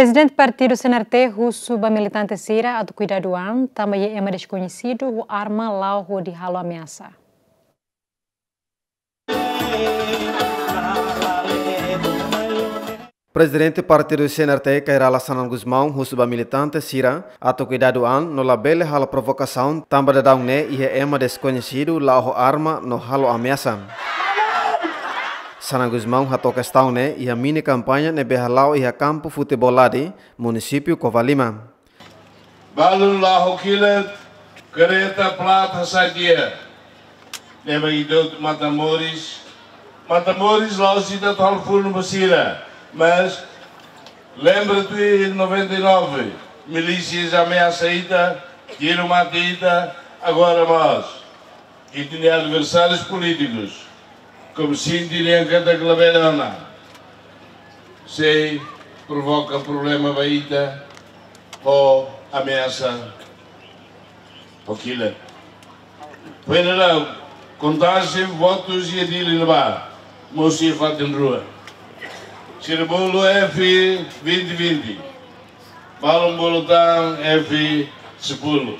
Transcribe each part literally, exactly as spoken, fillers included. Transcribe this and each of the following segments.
Prezidente Partidu C N R T husu ba militante sira atu kuidadu an, tanba iha ema deskoñesidu ho arma la'o hodi halo ameasa. Prezidente Partidu C N R T, Kay Rala Xanana Gusmão, husu ba militante sira atu kuidadu an no labele halo provokasaun, tanba daudaun ne'e iha ema deskoñesidu la'o ho arma no halo ameasa. Xanana Gusmão hato'o kestaun ne'e iha mini kampaña ne'ebé hala'o iha kampu futeból Ladi, munisípiu Covalima. Balun la'o ho kilat, kareta, plat hasai tiha. Ne'ebé ita hotu matan moris. Matan moris la'ós ita atu halo funu ba sira. Mas lembra tuir noventa e nove, milísias ameasa ita, tiru mate ita, agora mós ita-nia adversárius polítikus, komu sente nian katak labele ona, sei provoka problema ba ita ho ameasa, ho kilat. Foin daudaun, kontajen votus iha Dili ne'ebá, mosu iha fatin rua. Sira bolu F vinte vinte, balun bolu tan F sepuluh.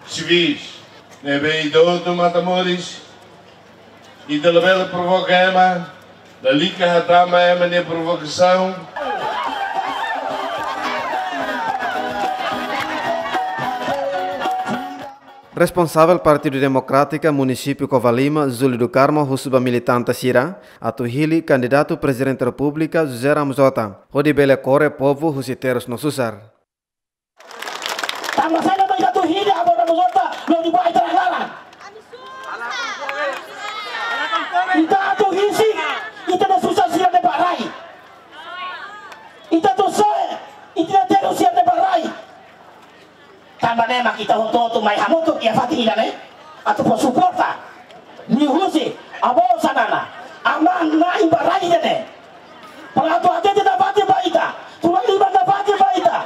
Sivis, ne'ebé ita hotu matan moris, ita labele provoka ema, lalika hatama ema nia provokasaun. Responsavel Partidu Demokrátiku munisípiu Covalima, Júlio do Carmo, husu ba militante sira atu hili kandidatu Prezidente Repúblika José Ramos Horta, hodi bele kore povu husi terus no susar. Tanba saida mak ita atu hili Abór Ramos Horta lori ba ita laran? Ita atu hili ita-nia susar sira ne'ebé rai. Ita atu soe ita-nia terus sira ne'ebé rai. Tanba ne'e mak ita hotu-hotu mai hamutuk iha fatin ida-ne'e atu fó suporta liuhusi Abór Xanana, aman-na'in ba rai ida-ne'e. Para atu hatete nafatin ba ita, tulan lima nafatin ba ita,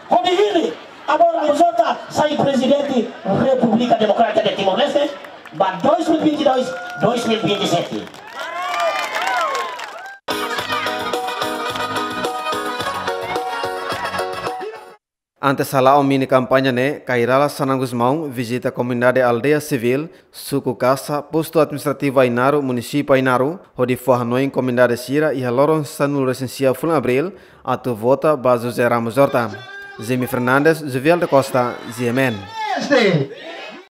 hodi hili Abór Ramos Horta sai Prezidente Repúblika Demokrátika de Timor-Leste ba dois mil e vinte e dois, dois mil e vinte e sete. Antes hala'o mini kampaña ne'e, Kay Rala Xanana Gusmão vizita komunidade Aldeia Sivíl, Suku Kasa, Postu Administrativu Ainaro, Munisípiu Ainaro, hodi fó hanoin komunidade sira iha loron sanulu-resin-sia fulan Abríl atu vota ba José Ramos Horta. Jimmy Fernandes, Jovial da Costa, G M N. Este.